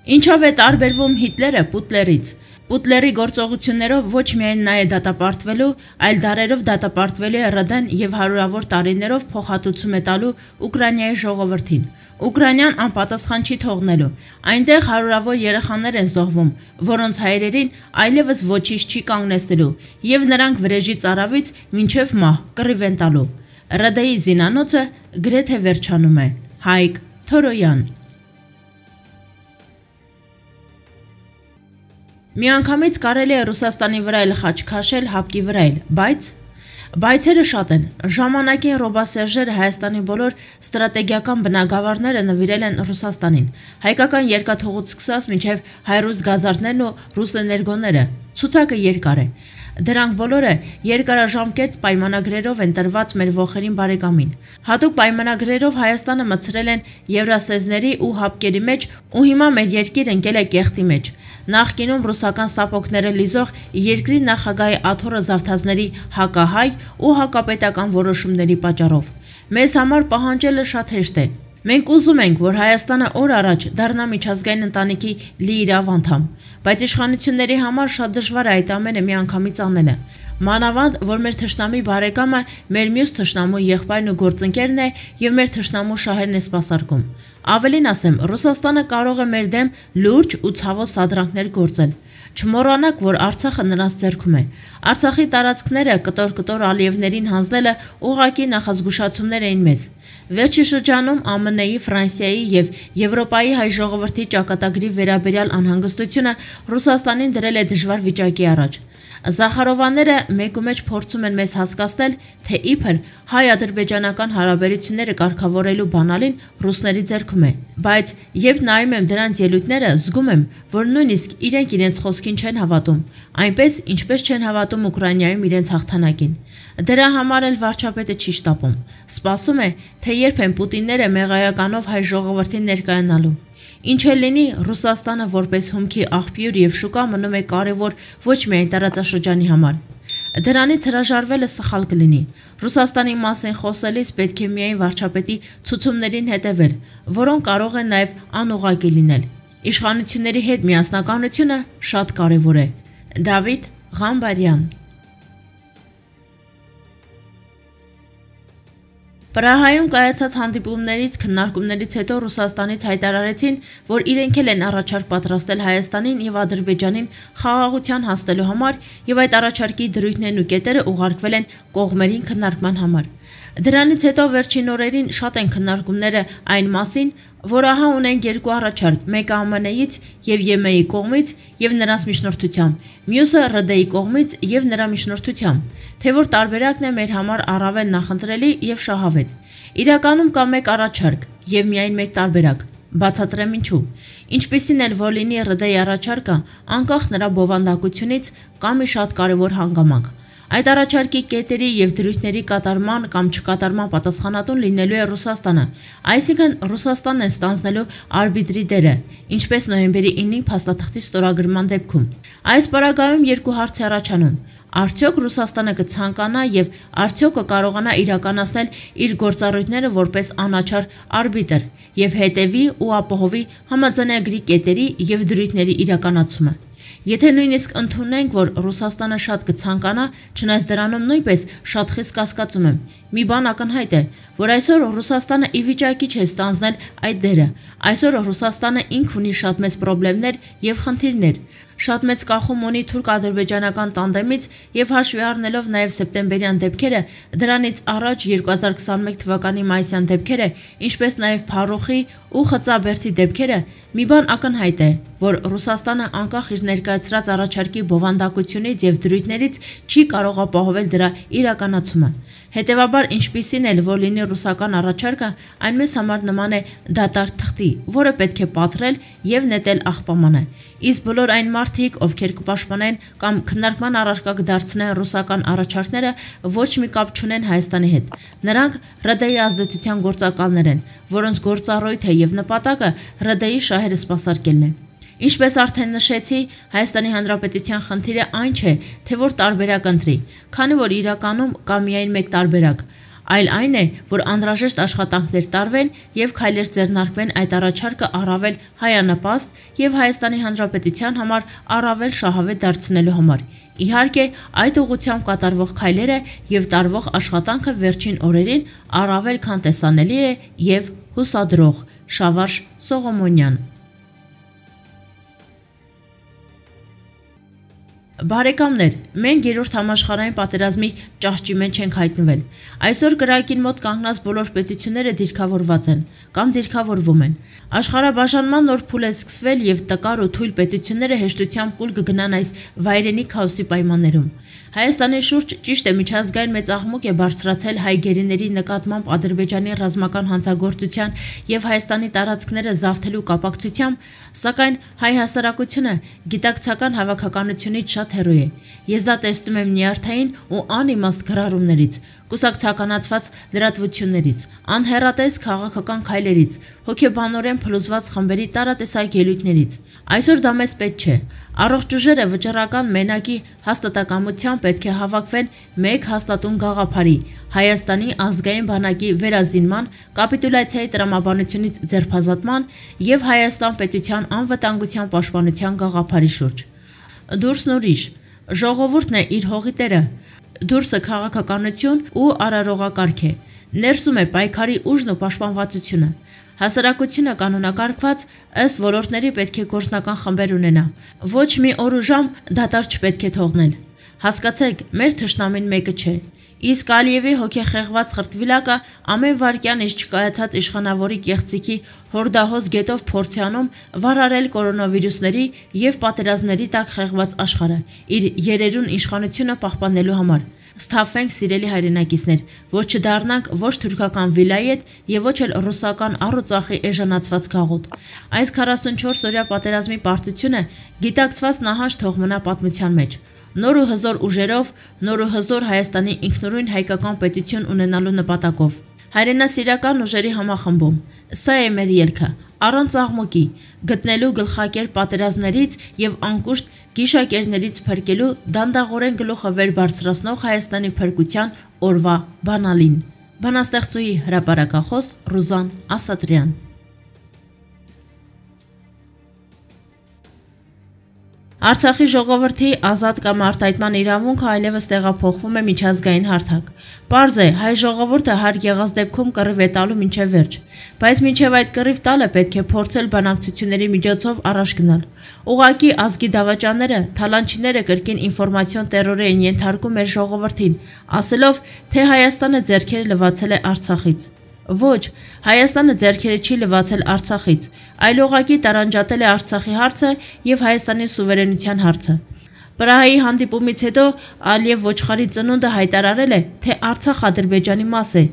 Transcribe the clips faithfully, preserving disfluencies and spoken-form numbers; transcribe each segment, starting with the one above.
Ինչով է տարբերվում Հիտլերը Պուտլերից։ Պուտլերի գործողություններով ոչ միայն նա է դատապարտվելու, այլ դարերով դատապարտվելու է ՌԴ-ն և հարյուրավոր տարիներով փոխհատուցում է տալու Ուկրաինայի ժողովրդին։ Ուկրաինան անպատասխան չի թողնելու։ Այնտեղ հարյուրավոր երեխաներ են զոհվում, որոնց հայրերին այլևս ոչինչ չի կանգնեցնելու, և նրանք վրեժի ծարավից մինչև մահ կռիվ են տալու։ ՌԴ-ի զինանոցը գրեթե վերջանում է։ Հայկ Թորոյան։ Միանգամից կարելի է Ռուսաստանի վրա էլ խաչ քաշել, հապկի վրա էլ, բայց… Բայցերը շատ են։ Ժամանակին ռոբասերժերը Հայաստանի բոլոր ստրատեգիական բնագավառները նվիրել են Ռուսաստանին։ Հայկական երկաթուղուց սկսած մինչև հայրուստ գազարդներն ու ռուսէներգոները։ Ցուցակը երկար է։ Դրանք բոլորը երկարաժամկետ պայմանագրերով են տրված մեր ոխերին բարեկամին։ Հատուկ պայմանագրերով Հայաստանը մտցրել են Եվրասեզների ու հապկերի մեջ ու հիմա մեր երկիր ընկել է կեղտի մեջ։ Նախկինում ռուսական սապոգները լիզող երկրի նախագահի աթոռը զավթածների հակահայ ու հակապետական որոշումների պատճառով։ Մեզ համար պահանջելը շատ հեշտ է։ Մենք ուզում ենք, որ Հայաստանը օր առաջ դառնա միջազգային ընտանիքի լիիրավ անդամ, բայց իշխանությունների համար շատ դժվար է այդ ամենը միանգամից անելը։ Մանավանդ, որ մեր թշնամի բարեկամը մեր մյուս թշնամու եղբայրն ու գործընկերն է և մեր թշնամու շահերն է սպասարկում։ Ավելին ասեմ, Ռուսաստանը կարող է մեր դեմ լուրջ ու ցավոտ սադրանքներ գործել։ Չմոռանաք, որ Արցախը նրանց ձեռքում է։ Արցախի տարածքները կտոր-կտոր Ալիևներին հանձնելը ուղղակի նախազգուշացումներ էին մեզ։ Վերջի շրջանում ԱՄՆ-ի, Ֆրանսիայի և Եվրոպայի հայ ժողովրդի ճակատագրի վերաբերյալ անհանգստությունը Ռուսաստանին դրել է դժվար վիճակի առաջ։ Զախարովաները մեկումեջ փորձում են մեզ հասկացնել, թե իբր հայ-ադրբեջանական հարաբերությունները կարգավորելու բանալին ռուսների ձեռքում է։ Բայց երբ նայում եմ դրանց ելույթները, զգում եմ, որ նույնիսկ իրենք իրենց խոսքին չեն հավատում, այնպես, ինչպես չեն հավատում Ուկրաինայում իրենց հաղթանակին։ Դրա համար էլ վարչապետը չի շտապում։ Սպասում է, թե երբ են Պուտինները մեղայականով հայ ժողովրդին ներկայանալու։ Ինչ էլ լինի, Ռուսաստանը որպես հումքի աղբյուր և շուկա մնում է կարևոր ոչ միայն տարածաշրջանի համար։ Դրանից հրաժարվելը սխալ կլինի։ Ռուսաստանի մասին խոսելիս պետք է միայն վարչապետի ցուցումներին հետևել, որոնք կարող են նաև անուղղակի լինել։ Իշխանությունների հետ միասնականությունը շատ կարևոր է։ Դավիթ Ղամբարյան։ Պրահայում կայացած հանդիպումներից, քննարկումներից հետո Ռուսաստանից հայտարարեցին, որ իրենք էլ են առաջարկ պատրաստել Հայաստանին և Ադրբեջանին խաղաղության հասնելու համար և այդ առաջարկի դրույթներն ու կետերը ուղարկվել են կողմերին քննարկման համար։ Դրանից հետո վերջին օրերին շատ են քննարկումները այն մասին, որ ահա ունենք երկու առաջարկ, մեկը ԱՄՆ-ից և ԵՄ-ի կողմից և նրանց միջնորդությամբ, մյուսը ՌԴ-ի կողմից և նրա միջնորդությամբ, թե որ տարբերակն է մեր համար առավել նախընտրելի և շահավետ։ Իրականում կա մեկ առաջարկ և միայն մեկ տարբերակ։ Բացատրեմ ինչու։ Ինչպիսին էլ որ լինի ՌԴ-ի առաջարկը, անկախ նրա բովանդակությունից, կա մի շատ կարևոր հանգամանք։ Այդ առաջարկի կետերի և դրույթների կատարման կամ չկատարման պատասխանատուն լինելու է Ռուսաստանը, այսինքն Ռուսաստանն է ստանձնելու արբիտրի դերը, ինչպես նոյեմբերի ինին փաստաթղթի ստորագրման դեպքում։ Այս պարագայում երկու հարց է առաջանում. արդյոք Ռուսաստանը կցանկանա և արդյոք կկարողանա իրականացնել իր գործառույթները որպես անաչառ արբիտր և հետևի ու ապահովի համաձայնագրի կետերի և դրույթների իրականացումը։ Եթե նույնիսկ ընդունենք, որ Ռուսաստանը շատ կցանկանա, չնայած դրանում նույնպես շատ խիստ կասկածում եմ, մի բան ակնհայտ է, որ այսօր Ռուսաստանը ի վիճակի չէ ստանձնել այդ դերը։ Այսօր Ռուսաստանը ինք ունի շատ մեծ պրոբլեմներ և խնդիրներ, շատ մեծ կախում ունի թուրք-ադրբեջանական տանդեմից և հաշվի առնելով նաև սեպտեմբերյան դեպքերը, դրանից առաջ երկու հազար քսաներկու թվականի մայիսյան դեպքերը, ինչպես նաև Փարոխի ու Խծաբերդի դեպքերը, մի բան ակնհայտ է, որ Ռուսաստանը անկախ իր ներկայացրած առաջարկի բովանդակությունից և դրույթներից չի կարող ապահովել դրա իրականացումը։ Հետևաբար, ինչպիսին էլ որ լինի ռուսական առաջարկը, այն մեզ համար նման է դատարկ թղթի, որը պետք է պատռել և նետել աղբամանը։ Իսկ բոլոր այն մարդիկ, ովքեր կպաշտպանեն կամ քննարկման առարկա կդարձնեն ռուսական առաջարկները, ոչ մի կապ չունեն Հայաստանի հետ։ Նրանք ՌԴ-ի ազդեցության գործակալներ են, որոնց գործառույթը և նպատակը ՌԴ-ի շահերը սպասարկելն է։ Ինչպես արդեն նշեցի, Հայաստանի Հանրապետության խնդիրը այն չէ, թե որ տարբերակ ընտրի, քանի որ իրականում կա միայն մեկ տարբերակ։ այլ այն է, որ անհրաժեշտ աշխատանքներ տարվեն եւ քայլեր ձեռնարկվեն այդ առաջարկը առավել հայանպաստ եւ Հայաստանի Հանրապետության համար առավել շահավետ դարձնելու համար։ Իհարկե, այդ ուղղությամբ կատարվող քայլերը եւ տարվող աշխատանքը վերջին օրերին առավել քան տեսանելի է եւ հուսադրող։ Շավարժ Սողոմոնյան։ Բարեկամներ, մենք երրորդ համաշխարհային պատերազմի ճահճի մեջ ենք հայտնվել։ Այսօր կրակին մոտ կանգնած բոլոր պետությունները դիրքավորված են կամ դիրքավորվում են։ Աշխարհաբաժանման նոր փուլ է սկսվել եւ տկար ու թույլ պետությունները հեշտությամբ կուլ կգնան այս վայրենի քաոսի պայմաններում։ Հայաստանի շուրջ ճիշտ է միջազգային մեծ աղմուկ է բարձրացել հայ գերիների նկատմամբ Ադրբեջանի ռազմական հանցագործության եւ Հայաստանի տարածքները զավթելու կապակցությամբ, սակայն հայ հասարակությունը գիտակցական հավաքականությունից շատ հեռու է։ Ես դա տեսնում եմ նյարդային ու անիմաստ գրառումներից, կուսակցականացված լրատվություններից, անհեռատես քաղաքական քայլերից, հոգեբանորեն փլուզված խմբերի տարատեսակ ելույթներից։ Այսօր դա մեզ պետք չէ։ Առողջ ուժերը վճռական մենակի հաստատակամությամբ պետք է հավաքվեն մեկ հաստատուն գաղափարի՝ Հայաստանի ազգային բանակի վերազինման, կապիտուլյացիայի տրամաբանությունից ձերբազատման եւ Հայաստան պետության անվտանգության պաշտպանության գաղափարի շուրջ։ Դուրսն ուրիշ, ժողովուրդն է իր հողի տերը, դուրսը քաղաքականություն ու արարողակարգ է, ներսում է պայքարի ուժն ու պաշտպանվածությունը։ Հասարակությունը կանոնակարգված ըստ ոլորտների պետք է գործնական խմբեր ունենա։ Ոչ մի օր ու ժամ դատարկ չպետք է թողնել։ Հասկացեք, մեր թշնամին մեկը չէ։ Իսկ Ալիևի հոգեխեղված խրտվիլակը ամեն վայրկյան իշ չկայացած իշխանավորի կեղծիքի հորդահոս գետով փորձի անում վարարել կորոնավիրուսների եւ պատերազմների տակ խեղված աշխարհը իր երերուն իշխանությունը պահպանելու համար։ Սթափվենք, սիրելի հայրենակիցներ, ոչ չդառնանք ոչ թուրքական վիլայետ եւ ոչ էլ ռուսական առուծախի էժանացված գաղութ։ Այս քառասունչորս օրյա պատերազմի պարտությունը գիտակցված նահանջ թող մնա պատմության մեջ։ Նոր ու հզոր ուժերով, նոր ու հզոր Հայաստանի ինքնուրույն հայկական պետություն ունենալու նպատակով։ Հայրենասիրական ուժերի համախմբում։ Սա է մեր ելքը, առանց աղմուկի, գտնելու գլխակեր պատերազմներից եւ անկուշտ գիշակերներից փրկելու դանդաղորեն գլուխը վեր բարձրացնող Հայաստանի փրկության օրվա բանալին։ Բանաստեղծուհի հրապարակախոս Ռուզան Ասատրյան։ Արցախի ժողովրդի ազատ կամ արտահայտման իրավունքը այլևս տեղափոխվում է միջազգային հարթակ։ Պարզ է, հայ ժողովուրդը հարկ եղած դեպքում կռիվ է տալու մինչև վերջ, բայց մինչև այդ կռիվ տալը պետք է փորձել բանակցությունների միջոցով առաջ գնալ։ Ուղղակի ազգի դավաճանները, թալանչիները կրկին ինֆորմացիոն տերորի են ենթարկում մեր ժողովրդին, ասելով, թե Հայաստանը ձեռքերը լվացել է Արցախից։ Ոչ, Հայաստանը ձեռքերը չի լվացել Արցախից, այլ ուղղակի տարանջատել է Արցախի հարցը եւ Հայաստանի սուվերենության հարցը։ Պրահայի հանդիպումից հետո Ալիև ոչխարի ծնունդը հայտարարել է, թե Արցախ Ադրբեջանի մաս է,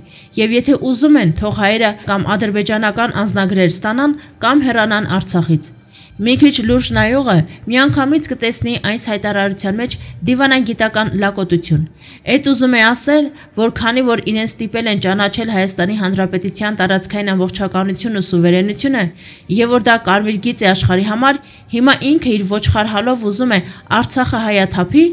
եւ եթե ուզում են, թող հայերը կամ ադրբեջանական անձնագրեր ստանան կամ հեռանան Արցախից։ Մի քիչ լուրջ նայողը միանգամից կտեսնի այս հայտարարության մեջ դիվանագիտական լակոտություն։ Էդ ուզում է ասել, որ քանի որ իրեն ստիպել են ճանաչել Հայաստանի Հանրապետության տարածքային ամբողջականությունն ու սուվերենությունը, եւ որ դա կարմիր գիծ է աշխարհի համար, հիմա ինքը իր ոչխար հալով ուզում է Արցախը հայաթափի,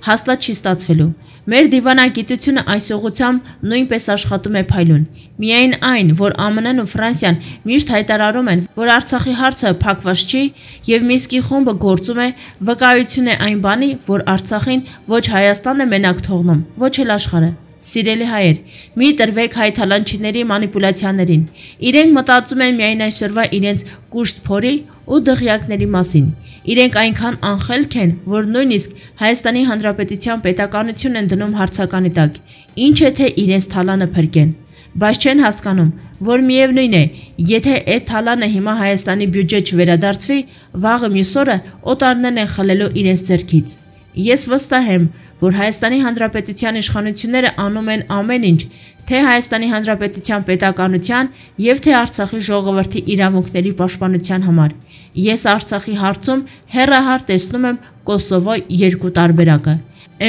հաստատ չի ստացվելու։ Մեր դիվանագիտությունը այս ուղղությամբ նույնպես աշխատում է փայլուն։ Միայն այն, որ ԱՄՆ-ն ու Ֆրանսիան միշտ հայտարարում են, որ Արցախի հարցը փակված չի, եւ Միսկի խումբը գործում է, վկայություն է այն բանի, որ Արցախին ոչ Հայաստանն է մենակ թողնում, ոչ էլ աշխարհը։ Սիրելի հայեր, մի տրվեք հայ թալանչիների մանիպուլյացիաներին։ Իրենք մտածում են միայն այսօրվա իրենց կուշտ փորի ու դղյակների մասին։ Իրենք այնքան անխելք են, որ նույնիսկ Հայաստանի Հանրապետության պետականությունն են դնում հարցականի տակ, ինչ է թե իրենց թալանը փրկեն։ Բայց չեն հասկանում, որ միևնույն է, եթե այդ թալանը հիմա Հայաստանի բյուջե չվերադարձվի, վաղը մյուս օրը օտարներն են խլելու իրենց ձեռքից։ Ես վստահ եմ, որ Հայաստանի Հանրապետության իշխանությունները անում են ամեն ինչ, թե Հայաստանի Հանրապետության պետականության եւ թե Արցախի ժողովրդի իրավունքների պաշտպանության համար։ Ես Արցախի հարցում հեռահար տեսնում եմ Կոսովո երկու տարբերակը։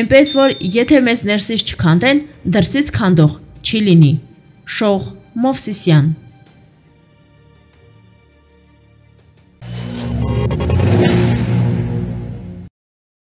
Էնպես որ եթե մեզ ներսից չքանդեն, դրսից քանդող չի լինի։ Շող Մովսիսյան։